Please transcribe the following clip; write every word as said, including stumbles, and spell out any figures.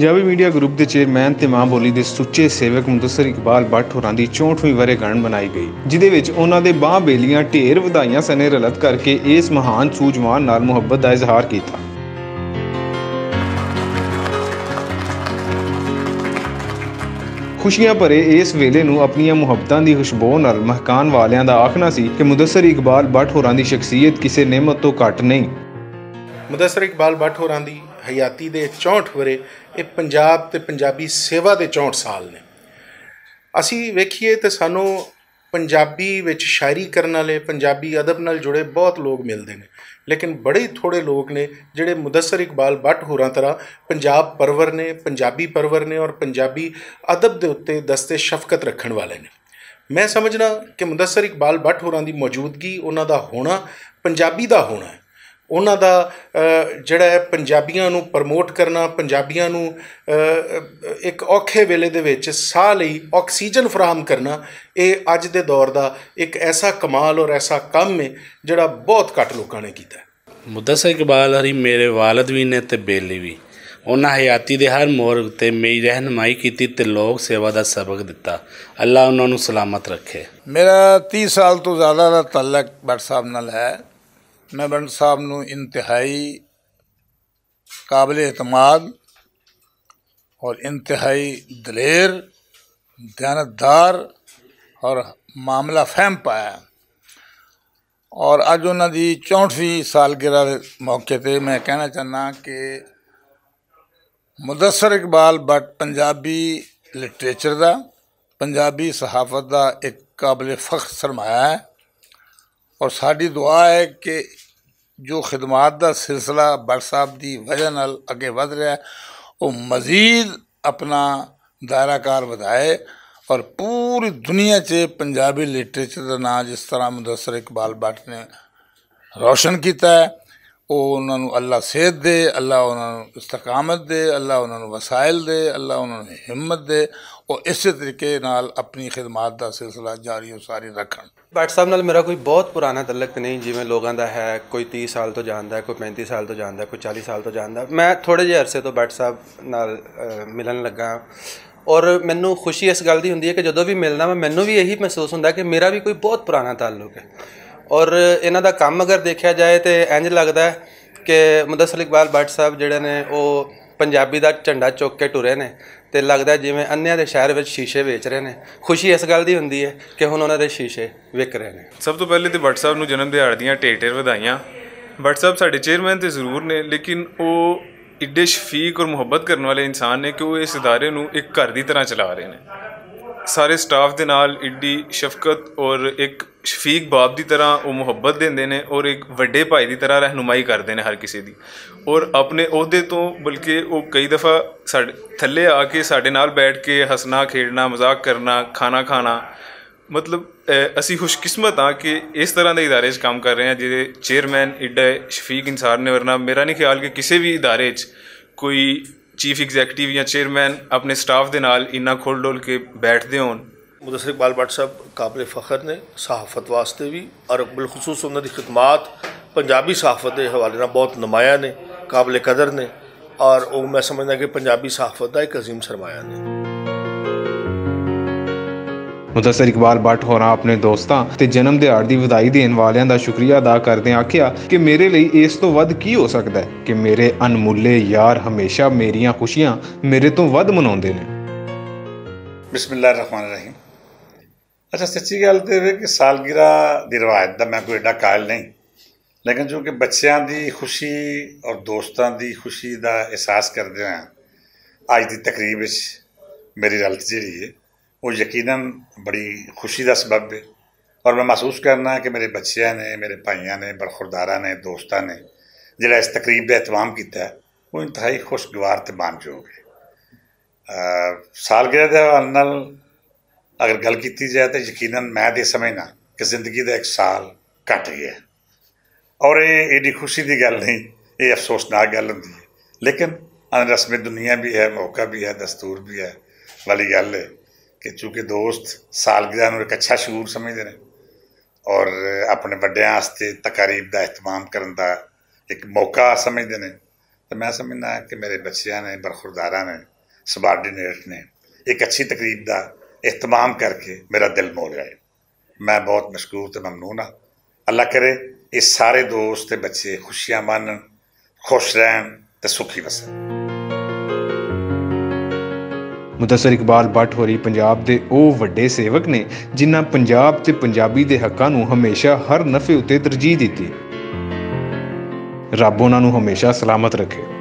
پنجابی میڈیا گروپ دے چیئرمین تے ماں بولی دے سچے سیوک مدثر اقبال بٹ ہوراں دی چونٹھ ویں ورے گھنڈ بنائی گئی، جدے وچ انہاں دے باں بیلیاں ڈھیر ودھائیاں سنے رلت کر کے اس مہان سوجوان نال محبت دا اظہار کیتا۔ خوشیاں بھرے اس ویلے نوں اپنیاں محبتاں دی خوشبو نال مہکان والیاں دا آکھنا سی کہ مدثر اقبال بٹ ہوراں دی شخصیت کسے نعمت توں گھٹ نہیں۔ مدثر اقبال بٹ ہوراں دی حیاتی دے چونٹھ ورے، اے پنجاب تے پنجابی سیوا دے چونٹھ سال نے۔ اسی ویکھیے تے سانوں پنجابی وچ شاعری کرن والے، پنجابی ادب نال جڑے بہت لوگ ملدے نے، لیکن بڑے ہی تھوڑے لوگ نے جڑے مدثر اقبال بٹ ہوراں طرح پنجاب پرور نے، پنجابی پرور نے اور پنجابی ادب دے اُتے دست شفقت رکھن والے نے۔ میں سمجھنا کہ مدثر اقبال بٹ ہوراں دی موجودگی، انہاں دا ہونا، پنجابی دا ہونا ہے، انہاں دا جڑا ہے پنجابیاں نوں پروموٹ کرنا، پنجابیاں نوں ایک اوکھے ویلے دے وچ ساہ لئی آکسیجن فراہم کرنا، اے اج دے دور دا ایک ایسا کمال اور ایسا کم ہے جڑا بہت گھٹ لوکاں نے کیتا ہے۔ مدثر اقبال ہری میرے والد وی نے تے بیلی وی۔ انہاں حیاتی دے ہر موڑ تے میری رہنمائی کیتی تے لوگ سیوا دا سبق دتا۔ اللہ انہاں نوں سلامت رکھے۔ میرا تیس سال تو زیادہ دا تعلق بٹ صاحب نال ہے۔ میں بٹ صاحب نوں انتہائی قابل اعتماد اور انتہائی دلیر، دیانتدار اور معاملہ فہم پایا۔ اور اج انہاں دی چونٹھویں سالگرہ دے موقع تے میں کہنا چاہنا کہ مدثر اقبال بٹ پنجابی لٹریچر دا، پنجابی صحافت دا ایک قابل فخر سرمایہ ہے۔ اور ساڈی دعا ہے کہ جو خدمات دا سلسلہ بٹ صاحب دی وجہ نال اگے ودھ رہیا ہے، وہ مزید اپنا دائرہ کار ودھائے اور پوری دنیا چ پنجابی لٹریچر دا نام جس طرح مدثر اقبال بٹ نے روشن کیتا ہے، وہ انہاں نوں اللہ صحت دے، اللہ انہاں نوں استقامت دے، اللہ انہاں نوں وسائل دے، اللہ انہاں نوں ہمت دے، اور اسی طریقے نال اپنی خدمات دا سلسلہ جاری و ساری رکھن۔ بٹ صاحب نال میرا کوئی بہت پرانا تعلق نہیں، جیویں لوگاں دا ہے، کوئی تیس سال تو جاندا ہے، کوئی پینتی سال تو جاندا ہے، کوئی چالی سال تو جاندا ہے۔ میں تھوڑے جہے عرصے تو بٹ صاحب نال، اہ، ملن لگا ہاں۔ اور مینوں خوشی اس گل دی ہوندی ہے کہ جدوں بھی ملنا وا، مینوں بھی یہی محسوس ہوندا ہے کہ میرا بھی کوئی بہت پرانا تعلق ہے۔ اور انہاں دا کم اگر دیکھیا جائے تے انج لگدا ہے کہ مدثر اقبال بٹ صاحب جڑے نے، او پنجابی دا جھنڈا چک کے ٹرے نے، تے لگدا ہے جویں انیاں دے شہر وچ شیشے ویچ رہے نے۔ خوشی اس گل دی ہوندی ہے کہ ہن انہاں دے شیشے وک رہے نے۔ سب تو پہلے تے بٹ صاحب نوں جنم دیہاڑ دیاں ٹھیر ٹھیر ودھائیاں۔ بٹ صاحب ساڈے چیئرمین تے ضرور نے، لیکن او ایڈے شفیق اور محبت کرن والے انسان نے کہ وہ اس ادارے نوں ایک گھر دی طرح چلا رہے نے۔ سارے سٹاف دے نال ایڈی شفقت اور ایک شفیق باپ دی طرح وہ محبت دیندے نے اور ایک وڈے بھائی دی طرح رہنمائی کردے نے ہر کسی دی۔ اور اپنے عہدے تو بلکہ وہ کئی دفعہ ساڈے تھلے آ کے ساڈے نال بیٹھ کے ہسنا، کھیڈنا، مذاق کرنا، کھانا کھانا، مطلب، اے، اسی خوش قسمت ہاں کہ اس طرح دے ادارے 'چ کام کر رہے ہیں، جہدے چیئرمین ایڈا شفیق انصار نے، ورنہ میرا نہیں خیال کہ کسی بھی ادارے 'چ کوئی چیف ایگزیکٹو یا چیئرمین اپنے سٹاف دے نال انہاں کھل ڈول کے بیٹھدے ہون۔ مدثر اقبال بٹ صاحب قابل فخر نے صحافت واسطے بھی، اور بالخصوص انہاں دی خدمات پنجابی صحافت دے حوالے نال بہت نمایاں نے، قابل قدر نے، اور او میں سمجھنا کہ پنجابی صحافت دا ایک عظیم سرمایہ نے۔ مدثر اقبال بٹ ہوراں اپنے دوستاں تے جنم دیہاڑ دی ودھائی دین والیاں دا شکریہ ادا کردے آکھیا کہ میرے لئی اس توں ودھ کی ہو سکدا ہے کہ میرے انمولے یار ہمیشہ میریاں خوشیاں میرے توں ودھ مناوندے نے۔ بسم اللہ الرحمن الرحیم۔ اچھا، سچی گل تے ایہ کہ سالگرہ دی روایت دا میں کوئی ایڈا قائل نہیں، لیکن چونکہ بچیاں دی خوشی اور دوستاں دی خوشی دا احساس کردے ہوئے اج دی تقریب وچ میری رلت جیڑی ہے، وہ یقیناً بڑی خوشی دا سبب ہے۔ اور میں محسوس کرنا کہ میرے بچیاں نے، میرے بھائیاں نے، برخورداراں نے، دوستاں نے جڑا اس تقریب دا اہتمام کیتا ہے، وہ انتہائی خوشگوار تے مان جوگ ہے۔ سالگرہ دے حوالے نال اگر گل کیتی جائے تو یقیناً میں تے سمجھنا کہ زندگی دا ایک سال کٹ گیا ہے۔ اور یہ ایڈی خوشی دی گل نہیں، یہ افسوسناک گل ہوندی ہے۔ لیکن ان رسم دنیا بھی ہے، موقع بھی ہے، دستور بھی ہے۔ والی گل ہے کہ چونکہ دوست سالگرہ نوں ایک اچھا شعور سمجھدے نے اور اپنے وڈیاں واسطے تقاریب دا اہتمام کرن دا ایک موقع سمجھدے نے، تے میں سمجھنا کہ میرے بچیاں نے، برخورداراں نے سبارڈینیٹ نے ایک اچھی تقریب دا اہتمام کر کے میرا دل مول جائے۔ میں بہت مشکور تے ممنون ہاں۔ اللہ کرے، یہ سارے دوست تے بچے خوشیاں مانن، خوش رہن تے سکھی وسن۔ مدثر اقبال بٹ ہوری پنجاب دے او وڈے سیوک نے، جنہاں پنجاب تے پنجابی دے حقاں نوں ہمیشہ ہر نفع اتے ترجیح دتی۔ رب انہاں نوں ہمیشہ سلامت رکھے۔